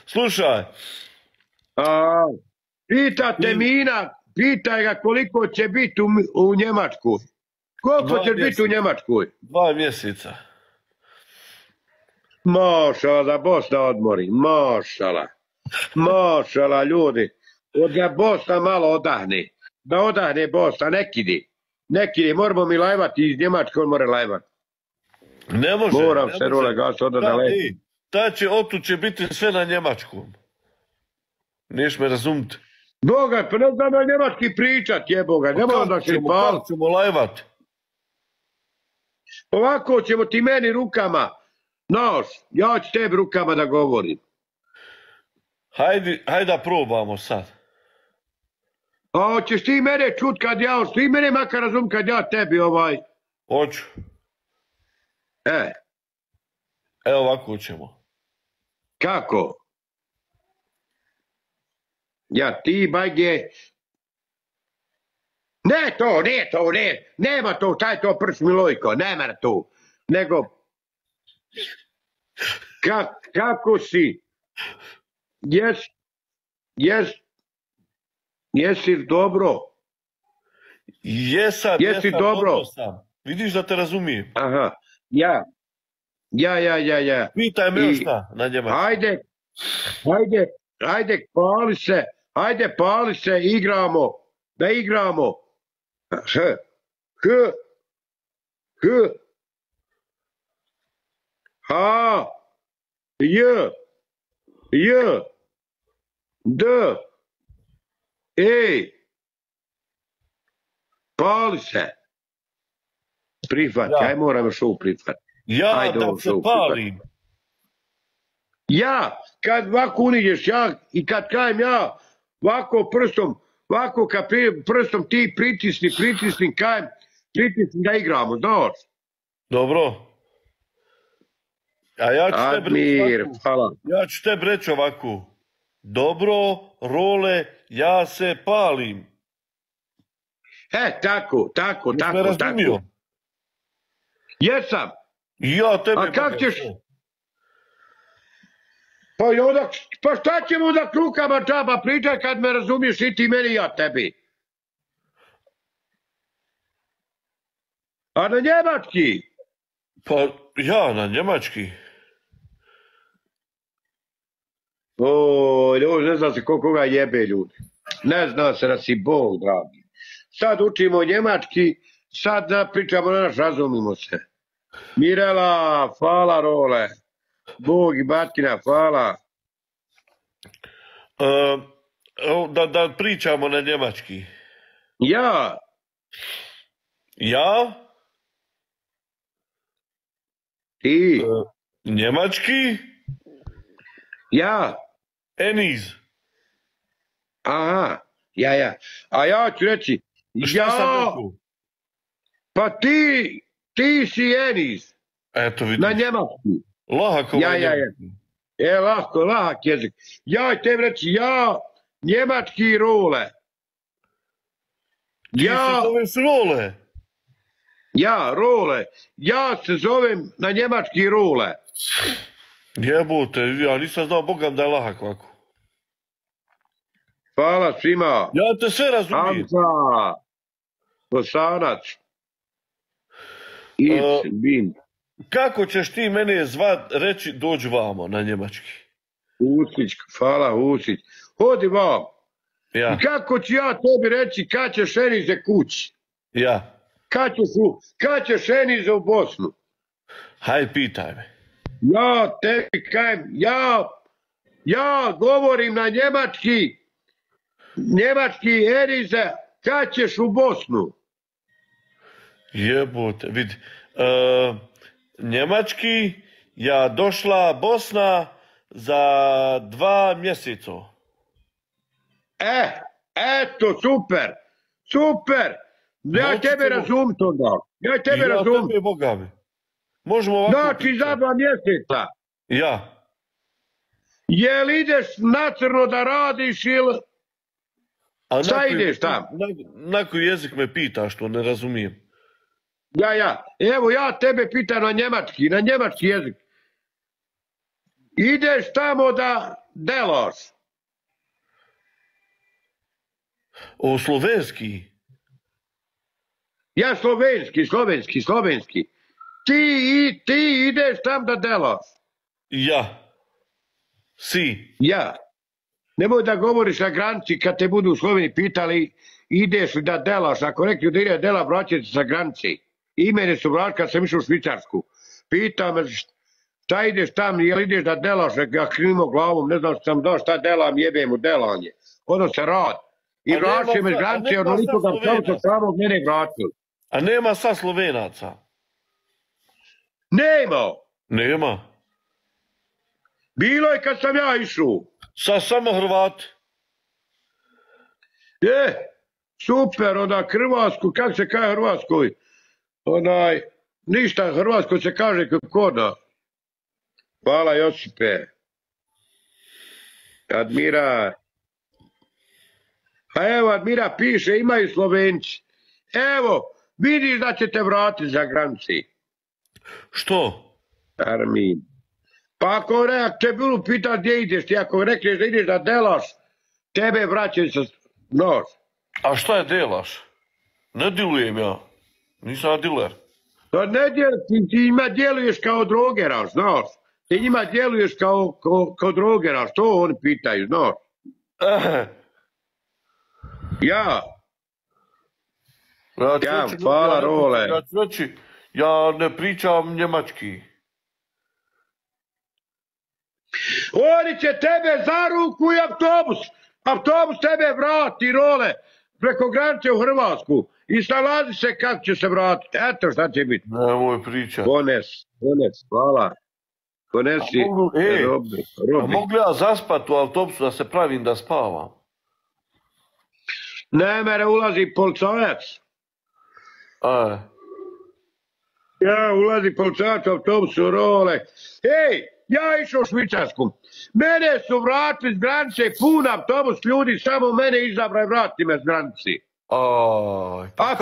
Slušaj. A, pitate Mina, pitaj ga koliko će biti u Njemačkoj. Koliko će biti u Njemačkoj? 2 mjeseca. Mašala da Bosna odmori, mašala. Mašala ljudi. Da Bosna malo odahne. Da odahne Bosna, nekidi. Nekidi, moramo mi lajvati iz Njemačke, on more lajvati. Ne može. Moram se role gas da leti. Otu će biti sve na njemačkom. Niješ me razumiti. Boga, pa ne znam na njemački pričat, jeboga. Ne moram da se pal. Kako ćemo lajvati? Ovako ćemo ti meni rukama. Noš, ja ću tebi rukama da govorim. Hajde da probamo sad. A hoćeš ti mene čut kad ja, hoćeš ti mene makar razum kad ja tebi Hoću. Evo ovako ćemo. Kako? Ja ti bajge. Ne to, nema to, taj to prst Milojko, nema to. Nego, kako si? Jesi dobro? Jesi dobro sam. Vidiš da te razumijem. Aha, ja. Pitaj me još šta na njemačkom. Ajde, pali se, igramo, da igramo. Ha, J, D, E, pali se. Prihvat, aj moram još ovo prihvat. Ja da se palim. Ja, kad ovako uniđeš, ja, i kad kajem ja, ovako kad prstom ti pritisni, kajem, pritisni da igramo, znaš? Dobro. A ja ću tebi reći ovako. Dobro, Role, ja se palim. Tako. Jesam. Ja tebi. A kak ćeš? Pa šta ćemo da krukama džaba pričaj kad me razumiješ i ti meni i ja tebi? A na njemački? Pa ja na njemački. Ljudi, ne zna se koga jebe ljudi. Ne zna se da si Bog, dragi. Sad učimo njemački, sad pričamo na naš, razumimo se. Mirela, hvala Role. Bog i batina, hvala. Da pričamo na njemački. Ja? Ti? Njemački? Ja? Eniz. Aha, ja. A ja ću reći, Šta sam rekao? Pa ti si Eniz. Eto vidiš. Na njemački. Lahako. Ja. Lahak jezik. Ja tebi reći, ja, njemački Role. Ti se zoveš Role? Ja, Role. Ja se zovem na njemački Role. Jebote, ja nisam znao Bogam da je lahak ovako. Hvala svima. Ja te sve razumijem. Hamza. Bosanac. Bin. Kako ćeš ti mene reći dođi vamo na njemački? Usić, hvala Usić. Hodi vam. Ja. I kako ću ja tebi reći kad ćeš Enize kući? Ja. Kad ćeš Enize u Bosnu? Hajde, pitaj me. Ja tebi kajem, ja govorim na njemački Enize, kad ćeš u Bosnu? Jebote, vidi. Njemački, ja došla Bosna za 2 mjeseca. Eto, super. Ja tebe razumim to da. Ja tebe Boga. Možemo ovako... Znači za 2 mjeseca. Ja. Jel ideš na crno da radiš ili... Šta ideš tam? Na koji jezik me pitaš, što ne razumijem. Ja. Evo ja tebe pitam na njemački jezik. Ideš tamo da delaš. O slovenski? Ja slovenski. Ti ideš tam da delaš. Ja. Si. Ja. Nemoj da govoriš na granici kad te budu u Sloveniji pitali ideš li da delaš. Ako rekli da ide dela, vraćaj se sa granici. I mene su vraćali kad sam išao u Švicarsku. Pitao me šta ideš tam, jel ideš da delaš, ja klimao glavom, ne znam što sam dao, šta delam, jebem u delanje. Ono se rad. I vraćaj me s granice, onoliko da pravca samog mene vraćali. A nema sad Slovenaca? Nema. Bilo je kad sam ja išao. Sad samo Hrvati? Super, onda Hrvatsku, kako se kaže Hrvatskoj? Ništa, Hrvatskoj se kaže koda. Hvala Josipe. Admira. A evo, Admira piše, imaju Slovenci. Evo, vidiš da će te vratiti za granici. Što? Armin. Pa ako te bilo pita gdje ideš, ti ako rekneš da ideš da delaš, tebe vraćaju sa nož. A šta je delaš? Ne dilujem ja. Nisam ja diler. To ne ti njima djeluješ kao drogeraš, znaš. Ti njima djeluješ kao drogeraš, to oni pitaju, znaš. Ja, hvala Role. Ja ne pričam njemački. Oni će tebe za ruku i autobus tebe vrati, Role, preko granice u Hrvatsku i snalazi se kako će se vratiti, eto šta će biti. Nemoj pričat. Pones, hvala. Ponesi, a mogu ja zaspat u autobusu da se pravim da spavam? Ne mere, ulazi policajac. Ja, ulazi policajac u autobusu, Role. Ja išao u Švicarsku. Mene su vratili s granice, pun autobus ljudi, samo mene izabraj, vrati me s granici. A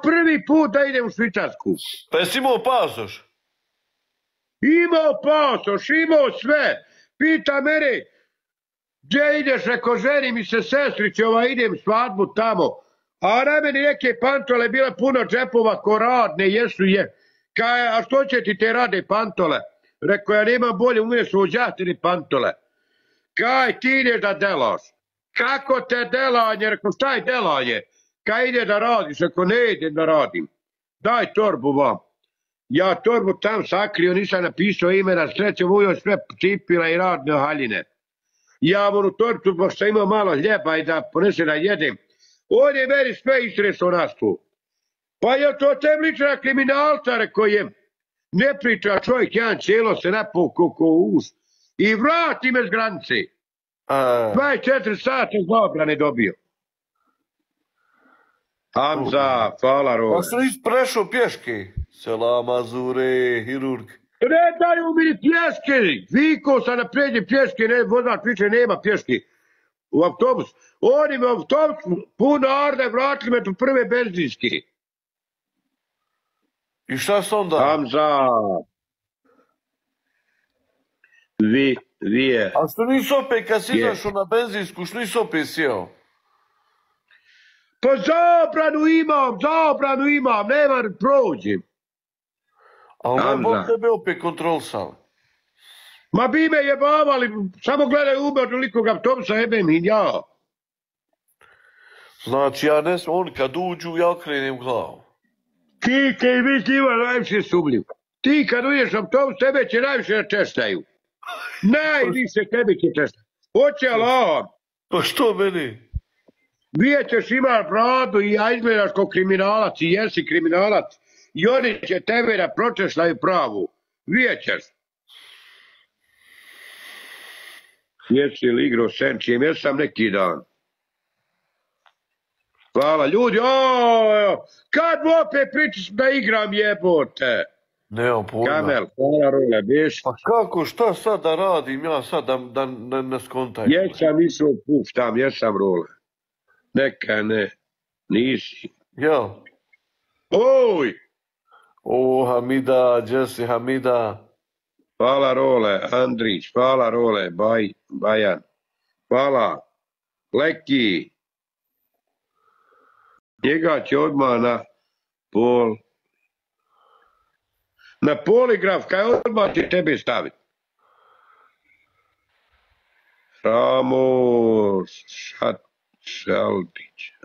prvi put da idem u Švicarsku. Pa jesi imao pasoš? Imao pasoš, imao sve. Pita mene, gdje ideš, reko ženi mi se sestriće, idem svadbu tamo. A na meni neke pantole, bila puno džepova ko radne, jesu je. Kaj, a što će ti te rade pantole? Rekao, ja nemam bolje, umiješ uđati ni pantole. Kaj, ti ideš da delaš. Kako te delanje? Rekao, šta je delanje? Kaj ide da radiš? Rekao, ne idem da radim. Daj torbu vam. Ja torbu tam sakrio, nisam napisao ime, na sreću ujoj sve cipila i radne haljine. Ja u torbu, pošto imao malo hljeba i da ponese da jedem. On je meni sve istresao nas tu. Pa je to te lična kriminalca, rekao je. Ne priča čovjek, jedan cijelo se napukao ko us. I vrati me s granice. 24 sata zabrane dobio. Hamza, hvala Role. Pa sam prešao pješke. Selam Azure, hirurg. Ne daju mi pješke. Vikao sam na prednje pješke, vozač više nema pješke. U autobus. Oni me u autobus puno arde vratili me do prve benzinske. I šta se onda? Hamza. Vije. A što nisi opet kad si izašao na benzinsku, što nisi opet sjeo? Pa zabranu imam, nema prođem. A ne bol tebe opet kontrolisali? Ma bi me jebavali, samo gledaj uber tolikog autobusa, jebem i ja. Znači ja ne sam, oni kad uđu, ja krenem glavu. Ti kaj vi ima najviše sumljiv. Ti kad uđeš autobus, tebe će najviše načeštaju. Najviše tebe će češtaju. Hoće Allah. Pa što meni? Vidjet ćeš imaš bradu i ja izgledaš kao kriminalac i jesi kriminalac. I oni će tebe da pročešljaju pravu. Vidjet ćeš. Jesi li igrao senčijem? Jesam neki dan. Hvala ljudi, kad opet pričaš da igram jebote? Nemam pojma. Kamel, hvala Role, biš? Pa kako, šta sad da radim ja sad da ne skontaj? Jesam išao puštam, jesam Role. Neka ne, nisi. Jel? Oj! O, Hamida, Jesse, Hamida. Hvala Role, Andrić, hvala Role, Bajan, hvala, Leki, njega će odmah na poligraf, kaj odmah će tebe staviti.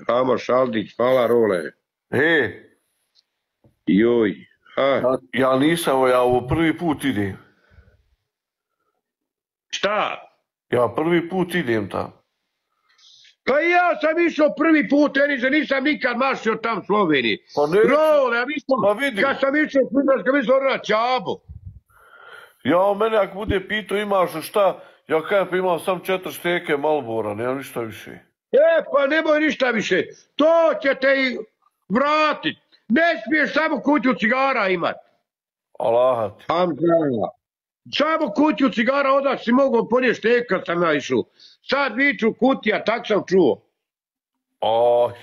Ramo Šaldić, hvala Role. Joj, ja nisam, ja ovo prvi put idem. Šta? Ja prvi put idem tamo. Pa ja sam išao prvi put, Enice, nisam nikad mašio tam u Sloveniji. Role, ja mislim, kad sam išao u Švicarsku, mislim na Čabu. Ja, mene ako bude pitao imaš šta, ja kajem pa imam sam 4 šteke Malbora, nemam ništa više. Pa nemoj ništa više, to će te i vratit. Ne smiješ samo kutiju cigara imat. Alahat. Samo kutiju cigara, onda si mogao ponijeti šteka kad sam ja išao. Sad viču kutija, tak sam čuo.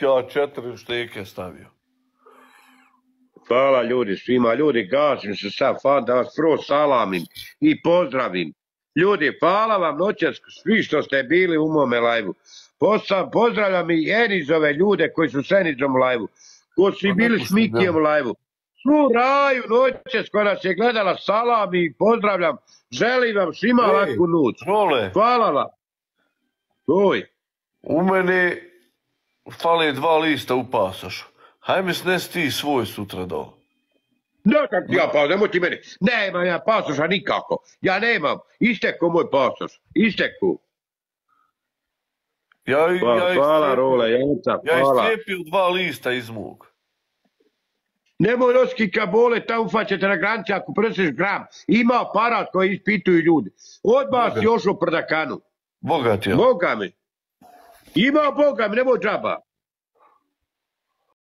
Ja 4 šteke stavio. Hvala ljudi svima, ljudi gasim se sad, da vas prvo salamim i pozdravim. Ljudi, hvala vam noćas svi što ste bili u mome lajvu. Pozdravljam i Enizove ljude koji su s Enizom u lajvu, koji su bili s Mikijem u lajvu. Svu raju noćas koja nas je gledala, salam i pozdravljam, želim vam svima laku noć. Hvala vam. U mene fale 2 lista u pasošu. Hajme snesi ti svoj sutra dole. Nemoj ti meni. Nemam ja pasoša nikako. Ja nemam. Istekao moj pasoš. Istekao. Hvala Role, Janca, hvala. Ja iscijepio 2 lista iz mog. Nemoj nositi kabole, tamo ufaćete na granici ako preseš gram. Ima aparat koji ispituju ljudi. Odmah si još u prdakanu. Boga ti ja. Boga mi. Ima Boga mi, nemoj džaba.